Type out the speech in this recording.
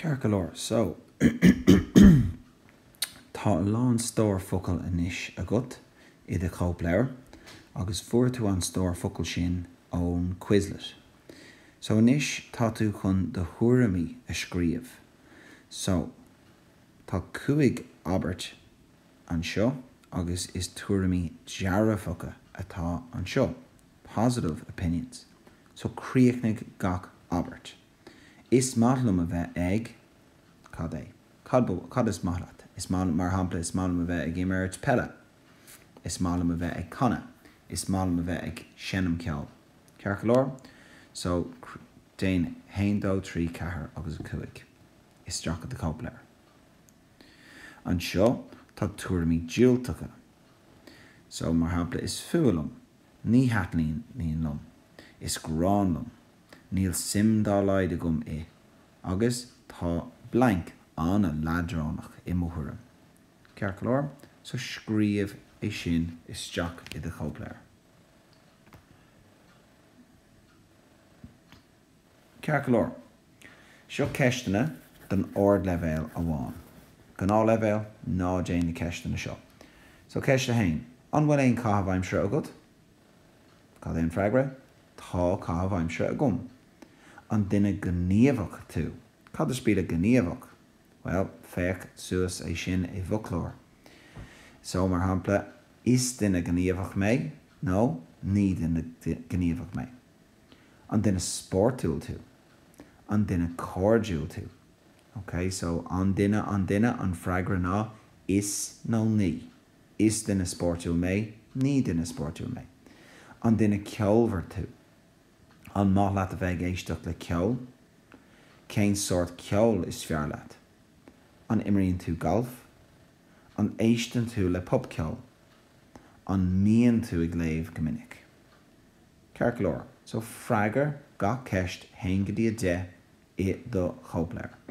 Ceart go leor, so tá a lán stór focal anois agat i do chóipleabhar agus fuair tú an stór focal sin ón Quizlet. So anois tá tú chun do thuairimí a scríobh. So tá 5 abairt anseo agus is tuairimí dearfacha atá anseo, positive opinions. So críochnaigh gach abairt. Is maith liom a bheith ag, cad é? Cad, cad is maith leat? Is maith, mar shampla, is maith liom a bheith ag imirt peile. Is maith liom a bheith ag canadh. Is maith liom a bheith ag seinm ceoil. Ceart go leor? So, déan 1, 2, 3, 4 agus 5 isteach i do chóipleabhar. Anseo tá tuairimí diúltacha. So, mar shampla, is fuath liom. Ní thaitníonn liom. Is gráin liom. Níl suim dá laghad agam i. Agus tá blank an-leadránach i mo thuairim. Ceart go leor? So scríobh é sin isteach i do chóipleabhar. Ceart go leor. Seo ceisteanna don ardleibhéal amháin. Gnáthleibhéal, ná déan na ceisteanna seo. So ceist 1, An bhfuil aon chaitheamh aimsire agat? Cad é an freagra? Tá caitheamh aimsire agam. An duine gníomhach tú? Cad is brí le gníomhach? Bhuel, féach suas é sin i bhfoclóir. So, mar shampla, Is duine gníomhach mé nó Ní duine gníomhach mé. An duine spórtúil tú? An duine cairdiúil tú? Ok, so an duine, an duine, an freagra ná is nó ní. Is duine spórtúil mé, ní duine spórtúil mé. An duine ceolmhar tú? An maith leat a bheith ag éisteacht le ceol? Cén sórt ceoil is fearr leat? An imríonn tú galf? An éisteann tú le popcheol? An mbíonn tú ag léamh go minic? Ceart go leor, so freagair gach ceist 1 go dtí 10 i do chóipleabhar.